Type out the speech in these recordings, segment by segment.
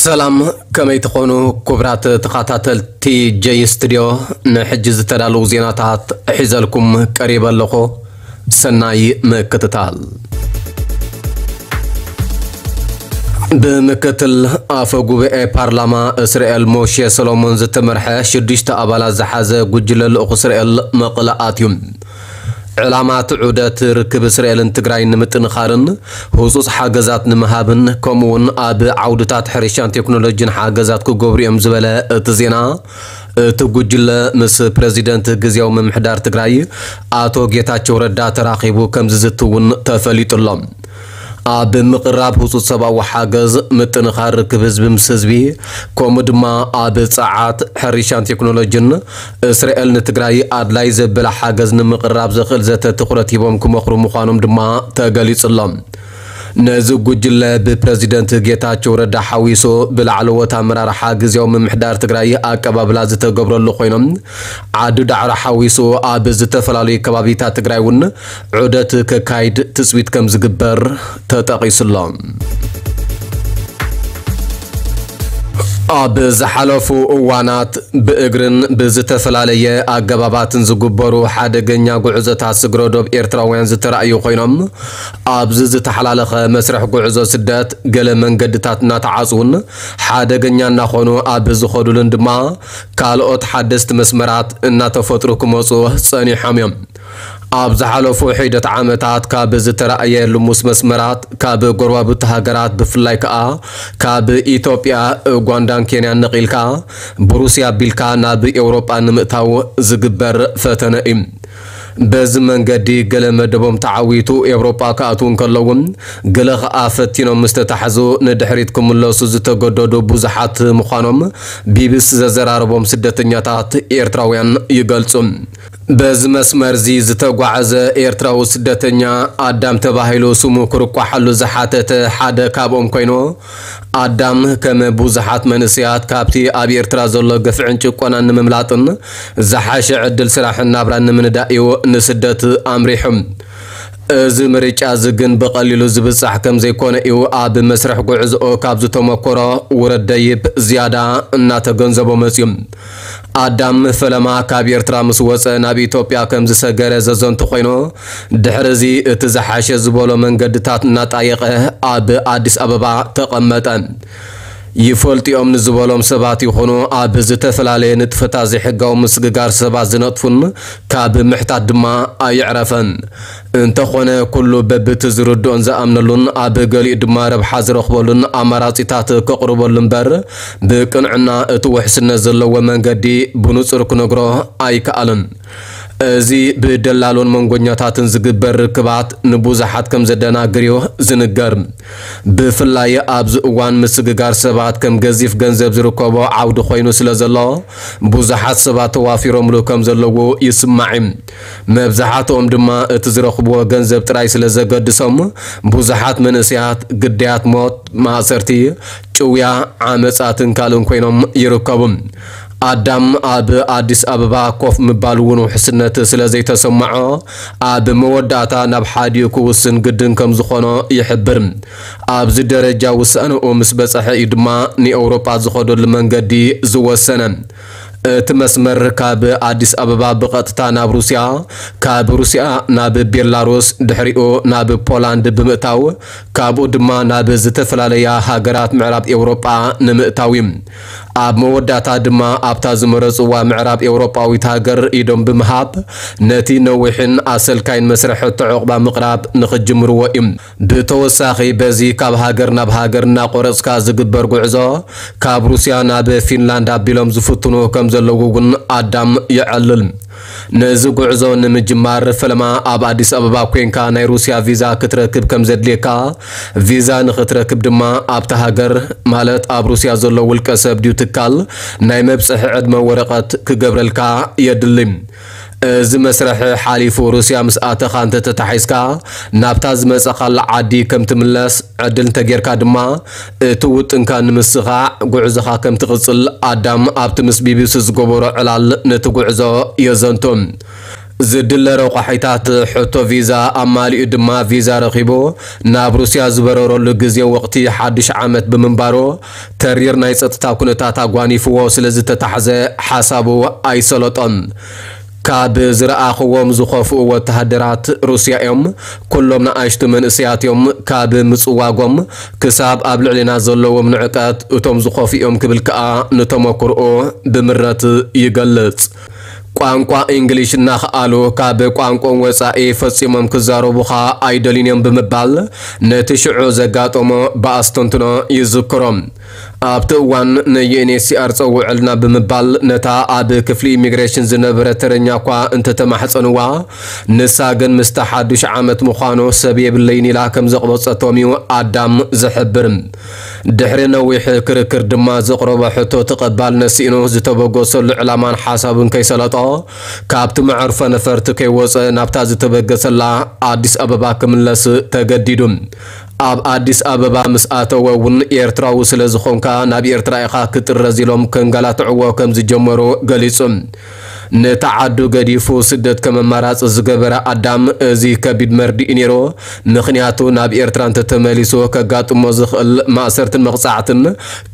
ሰላም፣ ከመይ ትኾኑ ክቡራት ተኸታተልቲ ጀይ ስቱድዮ? ንሕጂ ዝተዳለዉ ዜናታት ሒዘልኩም ቀሪበ ኣለኹ። ሰናይ ምክትታል። ብምክትል ኣፈ ጉባኤ ፓርላማ እስራኤል ሞሼ ሰሎሞን ዝተመርሐ ሽዱሽተ ኣባላት ዝሓዘ ጉጅለ ልኡኽ እስራኤል መቐለ ኣትዩ። ዕላማ እቲ ዑደት ርክብ እስራኤልን ትግራይን ንምጥንኻርን ህጹጽ ሓገዛት ንምሃብን ከምኡውን ኣብ ዓውድታት ሕርሻን ቴክኖሎጂን ሓገዛት ክገብሩ እዮም ዝበለ እቲ ዜና፣ እቲ ጉጅለ ምስ ፕረዚደንት ግዝያዊ ምምሕዳር ትግራይ ኣቶ ጌታቸው ረዳ ተራኺቡ ከም ዝዝቲ እውን ተፈሊጡ ኣሎ። ኣብ ምቕራብ ህጹጽ ሰብኣዊ ሓገዝ፣ ምጥንኻር ርክብ ህዝቢ ምስ ህዝቢ፣ ከምኡ ድማ ኣብ ጸዓት፣ ሕርሻን ቴክኖሎጂን እስራኤል ንትግራይ ኣድላይ ዘበለ ሓገዝ ንምቕራብ ዘኽእል ዘተ ትኹረት ሂቦም ክመኽሩ ምዃኖም ድማ ተገሊጹ ኣሎ። ነዚ ጉጅለ ብፕረዚደንት ጌታቸው ረዳ ሓዊሱ ብላዕለዎት ኣመራርሓ ግዝያዊ ምምሕዳር ትግራይ ኣቀባብላ ዝተገብረሉ ኮይኖም፣ ዓዲ ዳዕሮ ሓዊሱ ኣብ ዝተፈላለዩ ከባቢታት ትግራይ እውን ዑደት ከካይድ ትጽቢት ከም ዝግበር ተጠቒሱ ኣሎ። ኣብ ዝሓለፉ እዋናት ብእግርን ብዝተፈላለየ ኣገባባትን ዝግበሩ ሓደገኛ ጉዕዞታት ስግረ ዶብ ኤርትራውያን ዝተራእዩ ኮይኖም፣ ኣብዚ ዝተሓላለኸ መስርሕ ጉዕዞ ስደት ገለ መንገድታት እናተዓጽዉን ሓደገኛ እናኾኑ ኣብ ዝኸዱሉን ድማ ካልኦት ሓደስቲ መስመራት እናተፈጥሩ ክመጹ ጸኒሖም እዮም። ኣብ ዝሓለፉ ሒደት ዓመታት ካብ ዝተራእየ ልሙስ መስመራት፣ ካብ ጎረባብቲ ሃገራት ብፍላይ ከኣ ካብ ኢትዮጵያ፣ ኡጋንዳን ኬንያን ነቒልካ ብሩስያ ኣቢልካ ናብ ኤውሮጳ ንምእታው ዝግበር ፈተነ እዩ። በዚ መንገዲ ገለ መደቦም ተዓዊቱ ኤውሮጳ ክኣትዉ እንከለዉ፣ ገለ ከኣ ፈቲኖም ምስ ተታሕዙ ንድሕሪት ክምለሱ ዝተገደዱ ብዙሓት ምዃኖም ቢቢሲ ዘዘራረቦም ስደተኛታት ኤርትራውያን ይገልጹ። በዚ መስመር እዚ ዝተጓዓዘ ኤርትራዊ ስደተኛ ኣዳም ተባሂሉ ስሙ ክርቋሓሉ ዝሓተተ ሓደ ካብኦም ኮይኑ፣ ኣዳም ከም ብዙሓት መንእሰያት ካብቲ ኣብ ኤርትራ ዘሎ ግፍዕን ጭቆናን ንምምላጥን ዝሓሸ ዕድል ስራሕን ናብራን ንምንዳእ እዩ ንስደት ኣምሪሑ። እዚ ምርጫ እዚ ግን ብቐሊሉ ዝብጻሕ ከም ዘይኮነ እዩ ኣብ መስርሕ ጉዕዞኡ ካብ ዝተመኮሮ ውረድ ደይብ ዝያዳ እናተገንዘቦ መጽዩ። ኣዳም ፈለማ ካብ ኤርትራ ምስ ወጸ ናብ ኢትዮጵያ ከም ዝሰገረ ዘዘንቱ ኮይኑ፣ ድሕሪ እዚ እቲ ዝሓሸ ዝበሎ መንገድታት እናጣየቐ ኣብ ኣዲስ ኣበባ ተቐመጠ። ይፈልጥኦም ንዝበሎም ሰባት ይኹኑ ኣብ ዝተፈላለየ ንጥፈታት ዘይሕጋዊ ምስግጋር ሰባት ዝነጥፉን ካብ ምሕታት ድማ ኣይዕረፈን። እንተኾነ ኩሉ በብቲ ዝርድኦን ዝኣምነሉን ኣብ ገሊኡ ድማ ረብሓ ዝረኽበሉን ኣማራጺታት ከቕርበሉ እምበር ብቅንዕና እቲ ውሕስነት ዘለዎ መንገዲ ብንጹር ክነግሮ ኣይከኣልን። እዚ ብደላሎን መንጎኛታትን ዝግበር ርክባት ንብዙሓት ከም ዘደናግር እዩ ዝንገር። ብፍላይ ኣብዚ እዋን ምስግጋር ሰባት ከም ገዚፍ ገንዘብ ዝርከቦ ዓውዲ ኮይኑ ስለ ዘሎ፣ ብዙሓት ሰባት ተዋፊሮምሉ ከም ዘለዉ ይስማዕ እዩ። መብዛሕትኦም ድማ እቲ ዝረኽብዎ ገንዘብ ጥራይ ስለ ዘገድሶም፣ ብዙሓት መንእሰያት ግዳያት ሞት፣ ማእሰርቲ፣ ጭውያ፣ ዓመጻትን ካልእን ኮይኖም ይርከቡ። ኣዳም ኣብ ኣዲስ ኣበባ ኮፍ ምባል እውን ውሕስነት ስለ ዘይተሰምዖ፣ ኣብ መወዳእታ ናብ ሓዲኡ ክውስን ግድን ከም ዝኾኖ ይሕብር። ኣብዚ ደረጃ ውሳነኡ ምስ በጽሐ እዩ ድማ ንኤውሮጳ ዝኸደሉ መንገዲ ዝወሰነ። እቲ መስመር ካብ ኣዲስ ኣበባ ብቐጥታ ናብ ሩስያ፣ ካብ ሩስያ ናብ ቤላሩስ፣ ድሕሪኡ ናብ ፖላንድ ብምእታው፣ ካብኡ ድማ ናብ ዝተፈላለያ ሃገራት ምዕራብ ኤውሮጳ ንምእታው እዩ። ኣብ መወዳእታ ድማ ኣብታ ዝመረጽዋ ምዕራብ ኤውሮጳዊት ሃገር ኢዶም ብምሃብ፣ ነቲ ነዊሕን ኣሰልካይን መስርሕ ዕቑባ ምቕራብ ንኽጅምርዎ እዩ። ብተወሳኺ በዚ ካብ ሃገር ናብ ሃገር እናቆረጽካ ዝግበር ጉዕዞ፣ ካብ ሩስያ ናብ ፊንላንድ ኣቢሎም ዝፍትኑ ከም ዘለዉ እውን ኣዳም የዕልል። ነዚ ጉዕዞ ንምጅማር ፈለማ ኣብ ኣዲስ ኣበባ ኮንካ ናይ ሩስያ ቪዛ ክትረክብ ከም ዘድልየካ፣ ቪዛ ንኽትረክብ ድማ ኣብታ ሃገር፣ ማለት ኣብ ሩስያ ዘሎ ውልቀ ሰብ ድዩ ትካል፣ ናይ መብጽሒ ዕድመ ወረቐት ክገብረልካ የድሊ። እዚ መስርሕ ሓሊፉ ሩስያ ምስ ኣተኻ እንተተታሒዝካ፣ ናብታ ዝመጸኻላ ዓዲ ከም ትምለስ ዕድል እንተጌርካ ድማ፣ እቲ ውጥንካ ንምስኻዕ ጉዕዞኻ ከም ትቕጽል ኣዳም ኣብቲ ምስ ቢቢሲ ዝገበሮ ዕላል ነቲ ጉዕዞ የዘንቱ። ዝድለ ረቋሒታት ሕቶ ቪዛ ኣማሊኡ ድማ ቪዛ ረኺቡ ናብ ሩስያ ዝበረረሉ ግዜ ወቕቲ ሓድሽ ዓመት ብምንባሩ፣ ተሪር ናይ ጸጥታ ኩነታት ኣጓኒፍዎ ስለ ዝተታሕዘ ሓሳቡ ኣይሰለጦን። ካብ ዝረኣኽዎም ዝኸፍኡ ወተሃደራት ሩስያ እዮም። ኩሎም ንኣሽቱ መንእሰያት እዮም። ካብ ምጽዋጎም ክሳብ ኣብ ልዕሌና ዘለዎም ንዕቀት እቶም ዝኸፍኡ እዮም ክብል ከኣ ንተመክርኦ ብምረት ይገልጽ። ቋንቋ እንግሊሽ እናኸኣሉ ካብ ቋንቋኦም ወጻኢ ፈጺሞም ክዛረቡኻ ኣይደልዩን እዮም ብምባል ነቲ ሽዑ ዘጋጠሞ ብኣስተንትኖ ይዝክሮ። ኣብቲ እዋን ንዩኤንኤችሲኣር ጸውዐልና ብምባል ነታ ኣብ ክፍሊ ኢሚግሬሽን ዝነበረ ተረኛ እኳ እንተተማሕጸንዋ፣ ንሳ ግን ምስቲ ሓዱሽ ዓመት ምዃኑ ሰብ የብለይን ኢላ ከም ዘቕበጸቶም እዩ ኣዳም ዝሕብር። ድሕሪ ነዊሕ ክርክር ድማ ዘቕረቦ ሕቶ ተቐባልነት ስኢኑ ዝተበገሰሉ ዕላማን ሓሳብን ከይሰለጦ ካብቲ መዕርፎ ነፈርቲ ከይወጸ ናብታ ዝተበገሰላ ኣዲስ ኣበባ ክምለስ ተገዲዱ። ኣብ ኣዲስ ኣበባ ምስ ኣተወ እውን ኤርትራዊ ስለ ዝኾንካ ናብ ኤርትራ ኢኻ ክትጥረዝ ኢሎም ከንገላትዕዎ ከም ዝጀመሩ ገሊጹ። ነታ ዓዱ ገዲፉ ስደት ከም ኣማራጺ ዝገበረ ኣዳም፣ እዚ ከቢድ መርድእ እዩ ነይሩ። ምኽንያቱ ናብ ኤርትራ እንተተመሊሱ ከጋጥሞ ዝኽእል ማእሰርትን መቕጻዕትን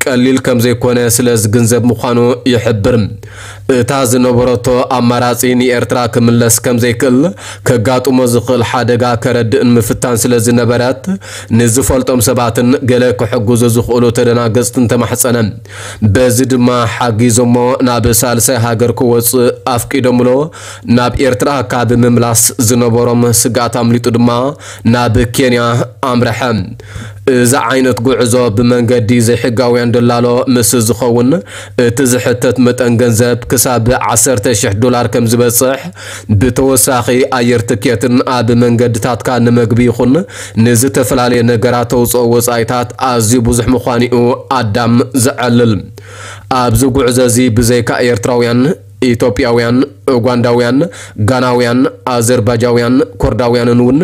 ቀሊል ከም ዘይኮነ ስለ ዝግንዘብ ምዃኑ ይሕብር። እታ ዝነበረቶ ኣማራጺ ንኤርትራ ክምለስ ከም ዘይክእል ከጋጥሞ ዝኽእል ሓደጋ ከረድእን ምፍታን ስለ ዝነበረት፣ ንዝፈልጦም ሰባትን ገለ ክሕግዙ ዝኽእሉ ተደናገጽትን ተማሕጸነ። በዚ ድማ ሓጊዞሞ ናብ ሳልሳይ ሃገር ክወጽእ ኣፍቂዶምሎ። ናብ ኤርትራ ካብ ምምላስ ዝነበሮም ስግኣት ኣምሊጡ ድማ ናብ ኬንያ ኣምርሐ። እዚ ዓይነት ጉዕዞ ብመንገዲ ዘይሕጋውያን ደላሎ ምስ ዝኸውን፣ እቲ ዝሕተት መጠን ገንዘብ ክሳብ ዓሰርተ ሽሕ ዶላር ከም ዝበጽሕ፣ ብተወሳኺ ኣየር ትኬትን ኣብ መንገድታትካ ንመግቢ ይኹን ንዝተፈላለየ ነገራት ተውፅኦ ወፃኢታት ኣዝዩ ብዙሕ ምዃኑ እዩ ኣዳም ዘዕልል። ኣብዚ ጉዕዞ እዚ ብዘይካ ኤርትራውያን፣ ኢትዮጵያውያን፣ ኡጋንዳውያን፣ ጋናውያን፣ ኣዘርባጃውያን፣ ኮርዳውያንን እውን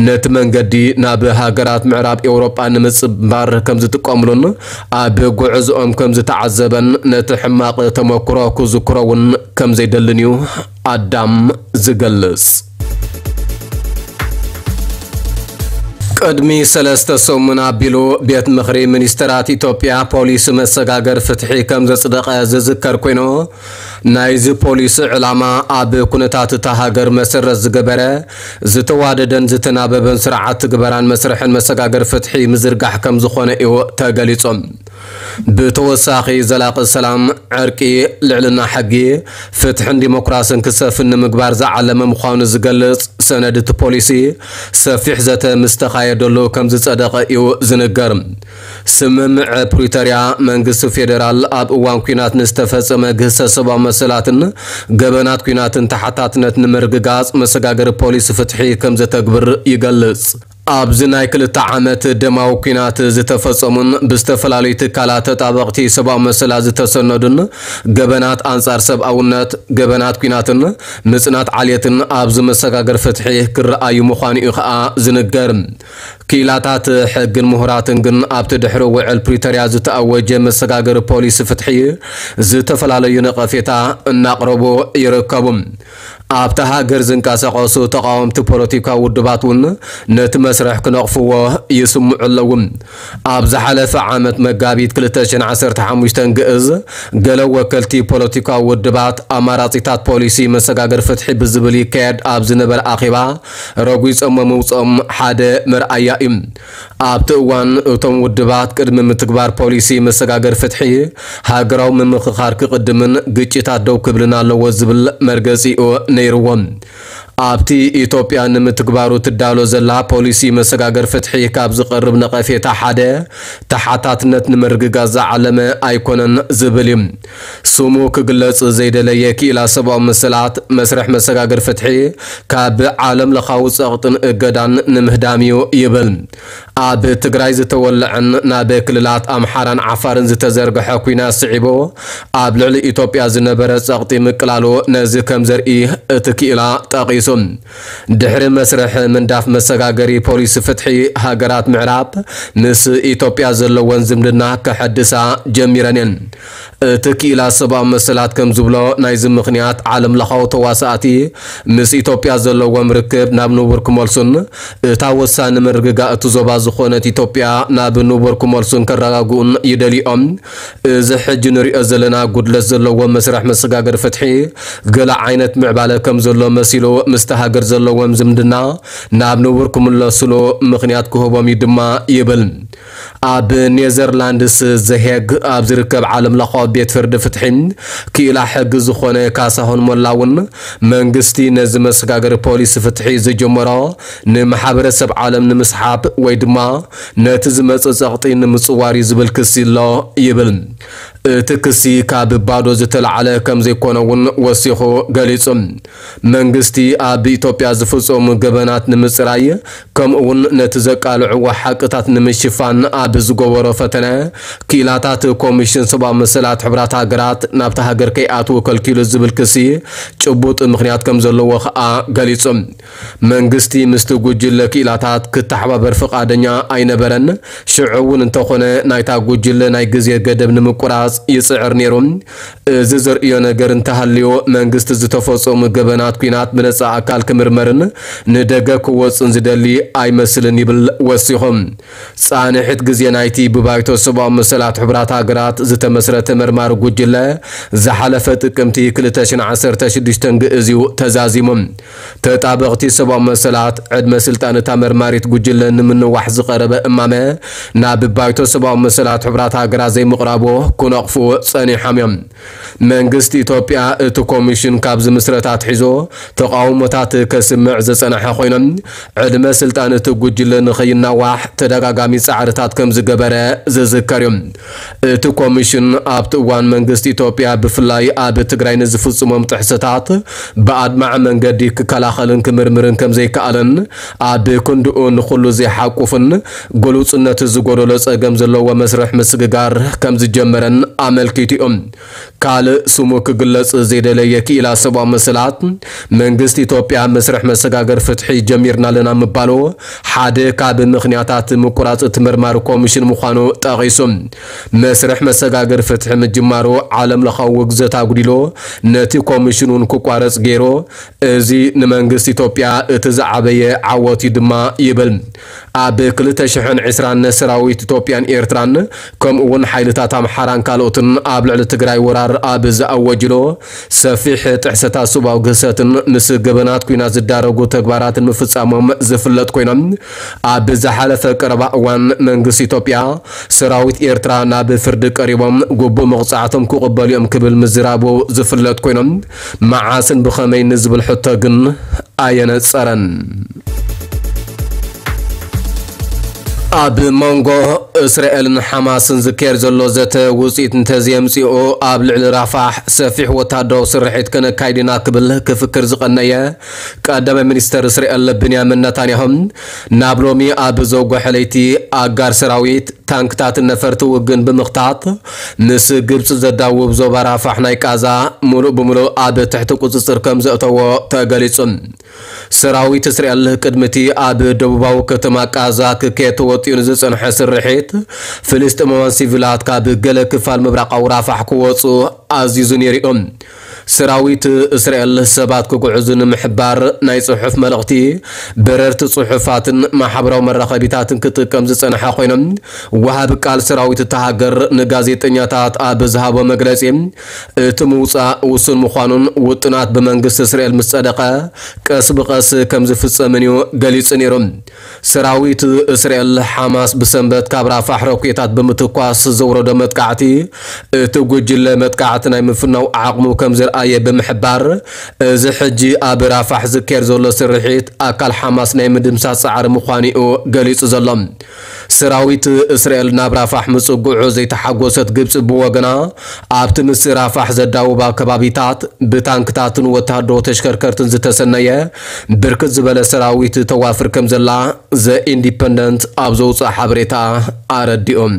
ነቲ መንገዲ ናብ ሃገራት ምዕራብ ኤውሮጳ ንምጽንባር ከም ዝጥቀምሉን ኣብ ጉዕዞኦም ከም ዝተዓዘበን ነቲ ሕማቕ ተመክሮ ክዝክሮ እውን ከም ዘይደልን እዩ ኣዳም ዝገልጽ። ቅድሚ ሰለስተ ሰሙን ኣቢሉ ቤት ምኽሪ ሚኒስተራት ኢትዮጵያ ፖሊሲ መሰጋገር ፍትሒ ከም ዘጽደቐ ዝዝከር ኮይኑ፣ ናይዚ ፖሊሲ ዕላማ ኣብ ኩነታት እታ ሃገር መሰረት ዝገበረ ዝተዋደደን ዝተናበበን ስርዓት ትግበራን መስርሕን መሰጋገር ፍትሒ ምዝርጋሕ ከም ዝኾነ እዩ ተገሊጹ። ብተወሳኺ ዘላቒ ሰላም፣ ዕርቂ፣ ልዕልና ሕጊ፣ ፍትሕን ዲሞክራስን ክሰፍን ንምግባር ዝዓለመ ምዃኑ ዝገልጽ ሰነድ እቲ ፖሊሲ ሰፊሕ ዘተ ምስ ተኻየደሉ ከም ዝጸደቐ እዩ ዝንገር። ስምምዕ ፕሪቶርያ መንግስቲ ፌደራል ኣብ እዋን ኲናት ንዝተፈጸመ ግህሰት ሰብኣዊ መሰላትን ገበናት ኲናትን ተሓታትነት ንምርግጋጽ መሰጋገሪ ፖሊሲ ፍትሒ ከም ዘተግብር ይገልጽ። ኣብዚ ናይ ክልተ ዓመት ደማዊ ኲናት ዝተፈጸሙን ብዝተፈላለዩ ትካላት ተጣበቕቲ ሰብኣዊ መሰላት ዝተሰነዱን ገበናት ኣንጻር ሰብኣውነት፣ ገበናት ኲናትን ምጽናት ዓሌትን ኣብዚ መሰጋገሪ ፍትሒ ክረኣዩ ምዃኑ እዩ ከኣ ዝንገር። ክኢላታት ሕግን ምሁራትን ግን ኣብቲ ድሕሪ ውዕል ፕሪቶርያ ዝተኣወጀ መሰጋገሪ ፖሊሲ ፍትሒ ዝተፈላለዩ ነቐፌታ እናቕረቡ ይርከቡ። ኣብታ ሃገር ዝንቀሳቐሱ ተቓወምቲ ፖለቲካዊ ውድባት እውን ነቲ መስርሕ ክነቕፍዎ ይስምዑ ኣለዉ። ኣብ ዝሓለፈ ዓመት መጋቢት ክልተ ሽሕን ዓሰርተ ሓሙሽተን ግእዝ፣ ገለ ወከልቲ ፖለቲካዊ ውድባት ኣማራጺታት ፖሊሲ መሰጋገሪ ፍትሒ ብዝብል ይካየድ ኣብ ዝነበረ ኣኼባ ረጒጾሞ ምውጽኦም ሓደ መርኣያ እዩ። ኣብቲ እዋን እቶም ውድባት ቅድሚ ምትግባር ፖሊሲ መሰጋገሪ ፍትሒ ሃገራዊ ምምኽኻር ክቕድምን ግጭታት ደው ክብልን ኣለዎ ዝብል መርገጺኡ ነይርዎም። ኣብቲ ኢትዮጵያ ንምትግባሩ ትዳሎ ዘላ ፖሊሲ መሰጋገሪ ፍትሒ ካብ ዝቐርብ ነቐፌታ ሓደ ተሓታትነት ንምርግጋጽ ዝዓለመ ኣይኮነን ዝብል እዩ። ስሙ ክግለጽ ዘይደለየ ክኢላ ሰብኣዊ መሰላት መስርሕ መሰጋገሪ ፍትሒ ካብ ዓለም ለኻዊ ጸቕጥን እገዳን ንምህዳም እዩ ይብል። ኣብ ትግራይ ዝተወለዐን ናብ ክልላት ኣምሓራን ዓፋርን ዝተዘርግሐ ኲናት ስዒቡ ኣብ ልዕሊ ኢትዮጵያ ዝነበረ ጸቕጢ ምቅላሉ ነዚ ከም ዘርኢ እቲ ክኢላ ጠቒሱ። ድሕሪ መስርሕ ምንዳፍ መሰጋገሪ ፖሊሲ ፍትሒ፣ ሃገራት ምዕራብ ምስ ኢትዮጵያ ዘለወን ዝምድና ከሐድሳ ጀሚረን እየን። እቲ ክኢላ ሰብኣዊ መሰላት ከም ዝብሎ፣ ናይዚ ምኽንያት ዓለም ለኻዊ ተዋሳእቲ ምስ ኢትዮጵያ ዘለዎም ርክብ ናብ ንቡር ክመልሱን እታ ወሳኒ ምርግጋእ እቲ ዞባ ዝኾነት ኢትዮጵያ ናብ ንቡር ክመልሱን ከረጋግኡን ይደልዩ እዮም። እዚ ሕጂ ንሪኦ ዘለና ጉድለት ዘለዎ መስርሕ መሰጋገሪ ፍትሒ ገለ ዓይነት ምዕባለ ከም ዘሎ መሲሉ ምስቲ ሃገር ዘለዎም ዝምድና ናብ ንቡር ክምለስሉ ምኽንያት ክህቦም እዩ ድማ ይብል። ኣብ ኔዘርላንድስ ዘሄግ ኣብ ዝርከብ ዓለም ለኻዊ ቤት ፍርዲ ፍትሒ ክኢላ ሕጊ ዝኾነ ካሳሁን ሞላ እውን መንግስቲ ነዚ መሰጋገሪ ፖሊሲ ፍትሒ ዝጀመሮ ንማሕበረሰብ ዓለም ንምስሓብ ወይ ድማ ነቲ ዝመጽእ ጸቕጢ ንምጽዋር እዩ ዝብል ክሲ ኣሎ ይብል። እቲ ክሲ ካብ ባዶ ዝተላዕለ ከም ዘይኮነ እውን ወሲኹ ገሊጹ። መንግስቲ ኣብ ኢትዮጵያ ዝፍጸሙ ገበናት ንምጽራይ ከምኡ እውን ነቲ ዘቃልዕዎ ሓቅታት ንምሽፋን ኣብ ዝገበሮ ፈተነ፣ ክኢላታት ኮሚሽን ሰብኣዊ መሰላት ሕቡራት ሃገራት ናብታ ሃገር ከይኣትዉ ከልኪሉ ዝብል ክሲ ጭቡጥ ምኽንያት ከም ዘለዎ ከኣ ገሊጹ። መንግስቲ ምስቲ ጉጅለ ክኢላታት ክተሓባበር ፍቓደኛ ኣይነበረን። ሽዑ እውን እንተኾነ ናይታ ጉጅለ ናይ ግዜ ገደብ ንምቁራጽ ይጽዕር ነይሩ። እዚ ዘርእዮ ነገር እንተሃልዩ፣ መንግስቲ ዝተፈጸሙ ገበናት ኲናት ብነጻ ኣካል ክምርመርን ንደገ ክወጽን ዝደሊ ኣይመስልን ይብል ወሲኹ። ጻንሒት ግዜ ናይቲ ብባይቶ ሰብኣዊ መሰላት ሕቡራት ሃገራት ዝተመስረተ መርማሪ ጉጅለ ዝሓለፈ ጥቅምቲ ክልተ ሽሕን ዓሰርተ ሽዱሽተን ግእዝ እዩ ተዛዚሙ። ተጣበቕቲ ሰብኣዊ መሰላት፣ ዕድመ ስልጣን እታ መርማሪት ጉጅለ ንምንዋሕ ዝቐረበ እማመ ናብ ባይቶ ሰብኣዊ መሰላት ሕቡራት ሃገራት ዘይምቕራቡ ክነቕፉ ጸኒሖም እዮም። መንግስቲ ኢትዮጵያ እቲ ኮሚሽን ካብ ዝምስረት ኣትሒዙ ተቓውሞታት ከስምዕ ዝጸንሐ ኮይኖም፣ ዕድመ ስልጣን እቲ ጉጅለ ንኸይናዋሕ ተደጋጋሚ ጻዕርታት ከም ዝገበረ ዝዝከር እዩ። እቲ ኮሚሽን ኣብቲ እዋን መንግስቲ ኢትዮጵያ ብፍላይ ኣብ ትግራይ ንዝፍጽሞም ጥሕሰታት ብኣድማዒ መንገዲ ክከላኸልን ክምርምርን ከም ዘይከኣለን፣ ኣብ ክንድኡ ንኹሉ ዘይሓቁፍን ግሉጽነት ዝጎደሎ ጸገም ዘለዎ መስርሕ ምስግጋር ከም ዝጀመረን ኣመልኪቱ እዩ። ካልእ ስሙ ክግለጽ ዘይደለየ ክኢላ ሰብኣዊ መሰላት፣ መንግስቲ ኢትዮጵያ መስርሕ መሰጋገር ፍትሒ ጀሚርና ኣለና ምባሉ ሓደ ካብ ምኽንያታት ምቁራጽ እቲ መርማሪ ኮሚሽን ምዃኑ ጠቒሱ። መስርሕ መሰጋገር ፍትሒ ምጅማሩ ዓለም ለኻዊ ውግዘት ኣጉዲሉ፣ ነቲ ኮሚሽን እውን ክቋረጽ ገይሩ። እዚ ንመንግስቲ ኢትዮጵያ እቲ ዝዓበየ ዓወት እዩ ድማ ይብል። ኣብ ክልተ ሽሕን ዕስራን ሰራዊት ኢትዮጵያን ኤርትራን ከምኡ እውን ሓይልታት ኣምሓራን ካልኦትን ኣብ ልዕሊ ትግራይ ወራር ኣብ ዝኣወጅሎ ሰፊሕ ጥሕሰታት ሰብኣዊ ግህሰትን ምስ ገበናት ኲናት ዝዳረጉ ተግባራትን ምፍጻሞም ዝፍለጥ ኮይኖም፣ ኣብ ዝሓለፈ ቀረባ እዋን መንግስቲ ኢትዮጵያ ሰራዊት ኤርትራ ናብ ፍርዲ ቀሪቦም ግቡእ መቕጻዕቶም ክቕበሉ እዮም ክብል ምዝራቡ ዝፍለጥ ኮይኖም፣ መዓስን ብኸመይ ንዝብል ሕቶ ግን ኣየነጸረን። ኣብ መንጎ እስራኤልን ሓማስን ዝካየድ ዘሎ ዘተ ውጽኢት እንተዘየምጽኡ፣ ኣብ ልዕሊ ራፋሕ ሰፊሕ ወታደራዊ ስርሒት ከነካይድ ኢና ክብል ክፍክር ዝቐነየ ቀዳማይ ሚኒስተር እስራኤል ብንያሚን ነታንያሁ፣ ናብ ሎሚ ኣብ ዘውግሐ ለይቲ ኣጋር ሰራዊት፣ ታንክታትን ነፈርቲ ውግን ብምኽታት፣ ምስ ግብጺ ዘዳውብ ዞባ ራፋሕ ናይ ቃዛ ሙሉእ ብሙሉእ ኣብ ትሕቲ ቁጽጽር ከም ዘእተዎ ተገሊጹ። ሰራዊት እስራኤል ቅድሚ እቲ ኣብ ደቡባዊ ከተማ ቃዛ ክካየድ ተወጢኑ ዝጸንሐ ስርሒት፣ ፍልስጤማውያን ሲቪላት ካብ ገለ ክፋል ምብራቓዊ ራፋሕ ክወጹ ኣዚዙ ነይሩ እዩ። ሰራዊት እስራኤል ሰባት ክጉዕዙ ንምሕባር ናይ ጽሑፍ መልእኽቲ፣ በረርቲ ጽሑፋትን ማሕበራዊ መራኸቢታትን ክጥቀም ዝጸንሐ ኮይኖም፣ ወሃቢ ቃል ሰራዊት እታ ሃገር ንጋዜጠኛታት ኣብ ዝሃቦ መግለጺ፣ እቲ ምውጻእ ውሱን ምዃኑን ውጥናት ብመንግስቲ እስራኤል ምስ ጸደቐ ቀስ ብቐስ ከም ዝፍጸምን እዩ ገሊጹ ነይሩ። ሰራዊት እስራኤል፣ ሓማስ ብሰንበት ካብ ራፋሕ ሮኬታት ብምትኳስ ዘውረዶ መጥቃዕቲ፣ እቲ ጉጅለ መጥቃዕቲ ናይ ምፍናው ዓቕሙ ከም ዘርኣየ ብምሕባር፣ እዚ ሕጂ ኣብ ራፋሕ ዝካየድ ዘሎ ስርሒት ኣካል ሓማስ ናይ ምድምሳስ ጻዕሪ ምዃኑ እዩ ገሊጹ ዘሎ። ሰራዊት እስራኤል ናብ ራፋሕ ምጽግዑ ዘይተሓጎሰት ግብጺ ብወገና፣ ኣብቲ ምስ ራፋሕ ዘዳውባ ከባቢታት ብታንክታትን ወተሃደራዊ ተሽከርከርትን ዝተሰነየ ብርክት ዝበለ ሰራዊት ተዋፍር ከም ዘላ ዘ ኢንዲፐንደንት ኣብ ዘውፅኣ ሓበሬታ ኣረዲኦም።